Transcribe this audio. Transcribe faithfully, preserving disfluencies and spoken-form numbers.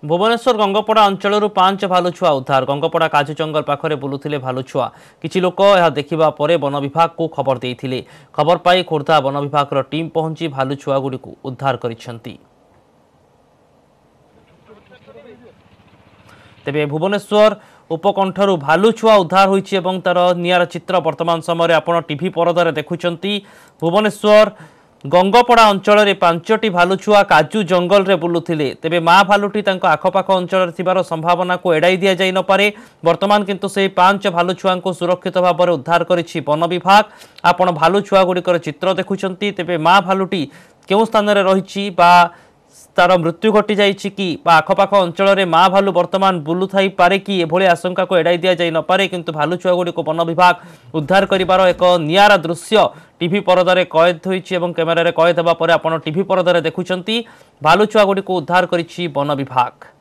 ଭୁବନେଶ୍ୱର ଗଙ୍ଗପଡ଼ା ଅଞ୍ଚଳରୁ ପାଞ୍ଚ ଭାଲୁ ଛୁଆ ଉଦ୍ଧାର। ଗଙ୍ଗପଡ଼ା କାଜୁ ଜଙ୍ଗଲ ପାଖରେ ବୁଲୁଥିଲେ ଭାଲୁ ଛୁଆ। କିଛି ଲୋକ ଏହା ଦେଖିବା ପରେ ବନ ବିଭାଗକୁ ଖବର ଦେଇଥିଲେ। ଖବର ପାଇ ଖୋର୍ଦ୍ଧା ବନ ବିଭାଗର ଟିମ୍ ପହଞ୍ଚି ଭାଲୁ ଛୁଆଗୁଡ଼ିକୁ ଉଦ୍ଧାର କରିଛନ୍ତି। ତେବେ ଭୁବନେଶ୍ୱର ଉପକଣ୍ଠରୁ ଭାଲୁ ଛୁଆ ଉଦ୍ଧାର ହୋଇଛି ଏବଂ ତାର ନିଆରା ଚିତ୍ର ବର୍ତ୍ତମାନ ସମୟରେ ଆପଣ ଟିଭି ପରଦାରେ ଦେଖୁଛନ୍ତି। ଭୁବନେଶ୍ୱର ଗଙ୍ଗପଡ଼ା ଅଞ୍ଚଳରେ ପାଞ୍ଚଟି ଭାଲୁ ଛୁଆ କାଜୁ ଜଙ୍ଗଲରେ ବୁଲୁଥିଲେ। ତେବେ ମା ଭାଲୁଟି ତାଙ୍କ ଆଖପାଖ ଅଞ୍ଚଳରେ ଥିବାର ସମ୍ଭାବନାକୁ ଏଡ଼ାଇ ଦିଆଯାଇ ନପାରେ। ବର୍ତ୍ତମାନ କିନ୍ତୁ ସେହି ପାଞ୍ଚ ଭାଲୁ ଛୁଆଙ୍କୁ ସୁରକ୍ଷିତ ଭାବରେ ଉଦ୍ଧାର କରିଛି ବନ ବିଭାଗ। ଆପଣ ଭାଲୁ ଛୁଆଗୁଡ଼ିକର ଚିତ୍ର ଦେଖୁଛନ୍ତି। ତେବେ ମା ଭାଲୁଟି କେଉଁ ସ୍ଥାନରେ ରହିଛି ବା ତାର ମୃତ୍ୟୁ ଘଟିଯାଇଛି କି ବା ଆଖପାଖ ଅଞ୍ଚଳରେ ମା ଭାଲୁ ବର୍ତ୍ତମାନ ବୁଲୁଥାଇପାରେ କି, ଏଭଳି ଆଶଙ୍କାକୁ ଏଡ଼ାଇ ଦିଆଯାଇ ନପାରେ। କିନ୍ତୁ ଭାଲୁ ଛୁଆଗୁଡ଼ିକୁ ବନ ବିଭାଗ ଉଦ୍ଧାର କରିବାର ଏକ ନିଆରା ଦୃଶ୍ୟ ଟିଭି ପରଦାରେ କଏଦ ହୋଇଛି ଏବଂ କ୍ୟାମେରାରେ କଏଦ ହେବା ପରେ ଆପଣ ଟିଭି ପରଦାରେ ଦେଖୁଛନ୍ତି ଭାଲୁ ଛୁଆଗୁଡ଼ିକୁ ଉଦ୍ଧାର କରିଛି ବନ ବିଭାଗ।